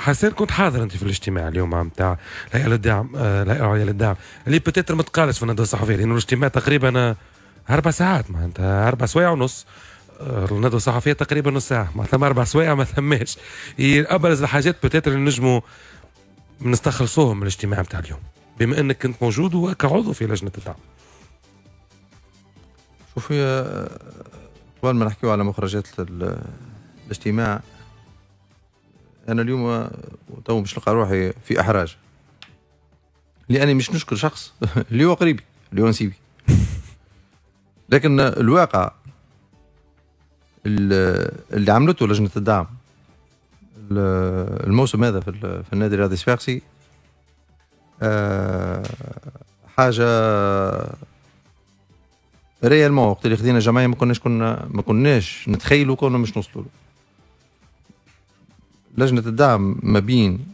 حسين، كنت حاضر انت في الاجتماع اليوم نتاع الهيئة للدعم، الهيئة العليا للدعم، اللي peut-être ما تقالش في الندوة الصحفيه، لانه الاجتماع تقريبا 4 ساعات، معناتها 4 سوايع ونص. الندوة الصحفية تقريبا نص ساعه، معناتها 4 سوايع ما ثماش. ابرز الحاجات peut-être اللي نجموا نستخلصوهم من الاجتماع نتاع اليوم، بما انك كنت موجود وكعضو في لجنة الدعم. شوف، هي قبل ما نحكيو على مخرجات الاجتماع، انا اليوم تو مش نلقى روحي في احراج، لاني مش نشكر شخص اللي هو قريبي، اللي هو نسيبي، لكن الواقع اللي عملته لجنة الدعم الموسم هذا في النادي الرياضي الصفاقسي حاجة réellement وقت اللي خدينا جمعية ما كناش نتخيلوا كنا مش نوصلوا له. لجنة الدعم ما بين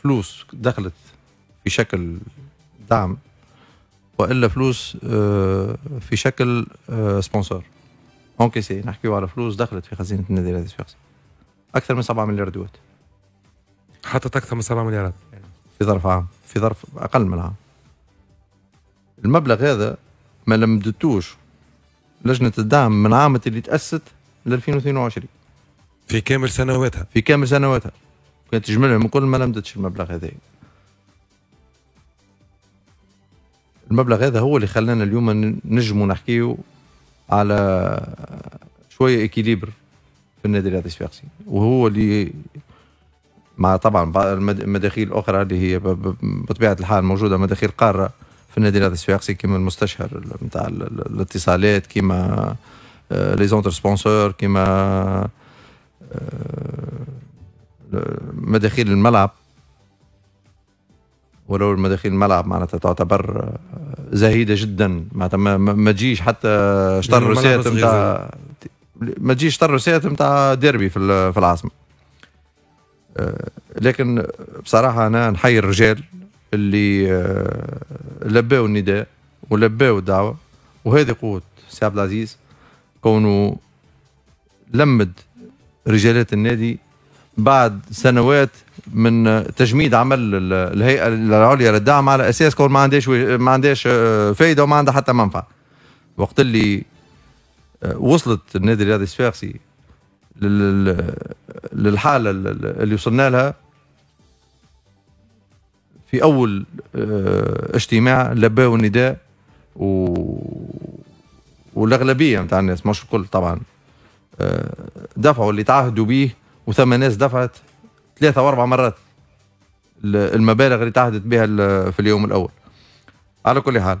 فلوس دخلت في شكل دعم والا فلوس في شكل sponsor encaissé، نحكيو على فلوس دخلت في خزينة النادي الرياضي الصفاقسي اكثر من 7 مليار دوات. حطت اكثر من 7 مليارات. في ظرف عام، في ظرف اقل من عام. المبلغ هذا ما لمدتوش لجنة الدعم من عامة اللي تاسست ل 2022. في كامل سنواتها. في كامل سنواتها، كانت تجملهم كل ما لمدتش المبلغ هذا. المبلغ هذا هو اللي خلانا اليوم نجموا نحكيو على شوية équilibre في النادي الرياضي الصفاقسي، وهو اللي مع طبعا بعض المداخيل الاخرى اللي هي بطبيعة الحال موجوده، مداخيل قارة في النادي الرياضي الصفاقسي، كما المستشهر نتاع الاتصالات، كما les autres sponsors، كما مداخيل الملعب، ولو المداخيل الملعب معناتها تعتبر زهيدة جدا، معناتها ما تجيش حتى شطر recettes نتاع، ما تجيش شطر recettes نتاع ديربي في العاصمه. لكن بصراحة انا نحيي الرجال اللي لباوا النداء ولباوا الدعوه، وهذه قوة سي عبد العزيز، كونه لمد رجالات النادي بعد سنوات من تجميد عمل الهيئة العليا للدعم على اساس كون ما عندهاش فايده وما عندها حتى منفعه. وقت اللي وصلت النادي الرياضي الصفاقسي للحالة اللي وصلنا لها، في اول اجتماع لباوا النداء والاغلبيه نتاع الناس، مش الكل طبعا، دفعوا اللي تعهدوا به، وثم ناس دفعت ثلاثة واربع مرات المبالغ اللي تعهدت بها في اليوم الاول. على كل حال